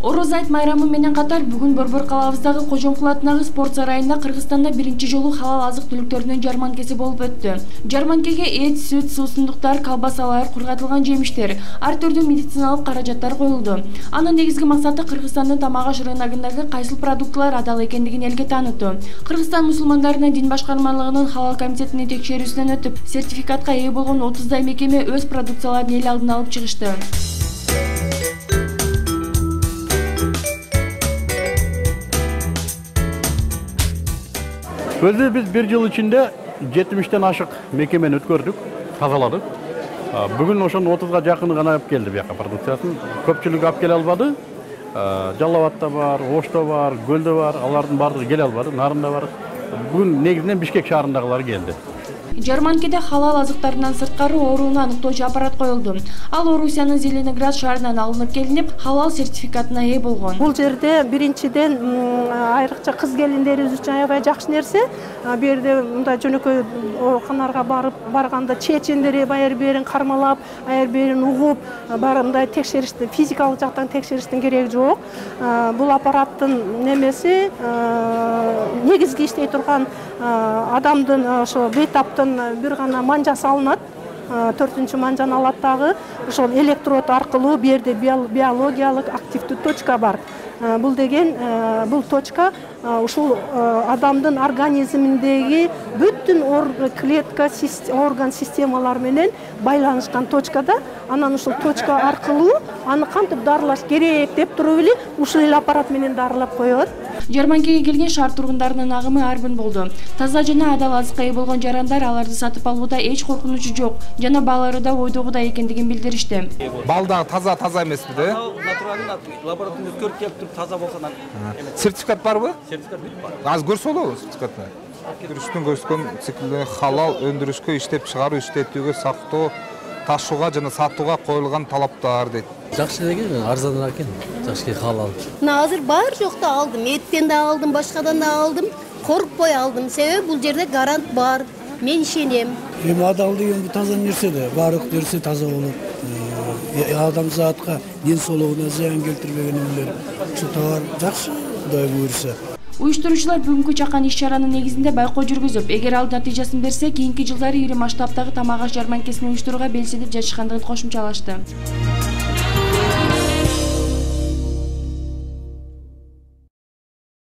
Ороз айт майрамы менен катар бүгүн Борбор калабыздагы Кожомкул атындагы спорт сарайында Кыргызстанда биринчи жолу халал азык-түлүктөрүнүн жарманкеси болуп өттү. Жарманкеге эт, сүт, суусундуктар, колбасалар, кургатылган жемиштер, ар түрдүү медициналык каражаттар коюлду. Анын негизги максаты Кыргызстандын тамак-аш рыногундагы кайсыл продуктылар адал экендигин элге таанытуу. Кыргызстан мусулмандарынын дин башкармалыгынын халал комитетинин текшерүүсүнөн өтүп, сертификатка ээ болгон 30дай мекеме өз продукцияларын эл алдына алып чыгышты. Өзү биз бир жыл ичинде 70тен ашык мекемени өткөрдүк, тазаладык. Бүгүн ошонун 30га жакыны гана алып келди бияка продукциясын. Көпчүлүгү алып келе албады. Жалал Абадта бар, Ошто бар, Көлдө бар, алардын баардыгы келе албады, Нарында бар. Бүгүн негизинен Бишкек шаарындагылар келди. Жарманкеде халал азыктарынан сырткары ооруну аныктоочу аппарат коюлду. Ал Орусиянын Зеленоград шаарынан алынып келинип, халал сертификатына ээ болгон. Бул жерде биринчиден айрыкча кыз келиндерибиз үчүн аябай жакшы нерсе. Бу жерде мындай жөнөкөй ооруканаларга барганда чечендери баяр берин кармалап, аяр берин угуп, мындай текшеришти, физикалык жактан текшериштин кереги жок. Бул аппараттын немеси негизги иштей турган адамдын ошо бейтаптын бир гана манжасы алынат. 4-чү манжаны алат дагы. Ошол электрод аркылуу бу жерде биологиялык активдүү точка бар. Бул деген бул точка ушул адамдын организминдеги бүткүл клетка, орган системалар менен байланышкан точкада. Анан ушул точка аркылуу аны кантип дарылаш керек деп туруп эле ушул эле аппарат менен дарылап коет. Жарманкеге келген шаар тургундарынын агымы арбын болду. Таза жана адал азыкка ээ болгон жарандар аларды сатып алууда эч коркунучу жок жана баалары да ойдогудай экендигин билдиришти. Бал дагы таза эмеспи да? Натуралдын лабораторияда өткөрүп келип туруп таза болсо да. Сертификат барбы? Сертификат бар. Азыр көрсө болобу сертификатты? Үстүн көрсөткөн циклде халал өндүрүшкө, иштеп чыгаруу, иштетүүгө, сактоо, ташууга жана сатууга коюлган талаптар дейт. Жакшы экен, арзаныраак экен. Жакшы халал. Азыр бар жокто алдым, эттен да алдым, башкадан да алдым. Коркпой алдым, себеби бул жерде гарант бар. Мен ишенем. Эми адал деген бул таза нерсе да, баардык нерсе таза болот. Адамзатка ден соолугуна зыян келтирбеген эмелер. Ушу товар жакшы, Кудай буйруса. Уюштуруучулар бүгүнкү чакан иш-чаранын негизинде байкоо жүргүзүп, эгер ал натыйжасын берсе, кийинки жылдары ири масштабтагы тамак-аш жарманкесин уюштурууга белсенип жатышкандыгын кошумчалашты.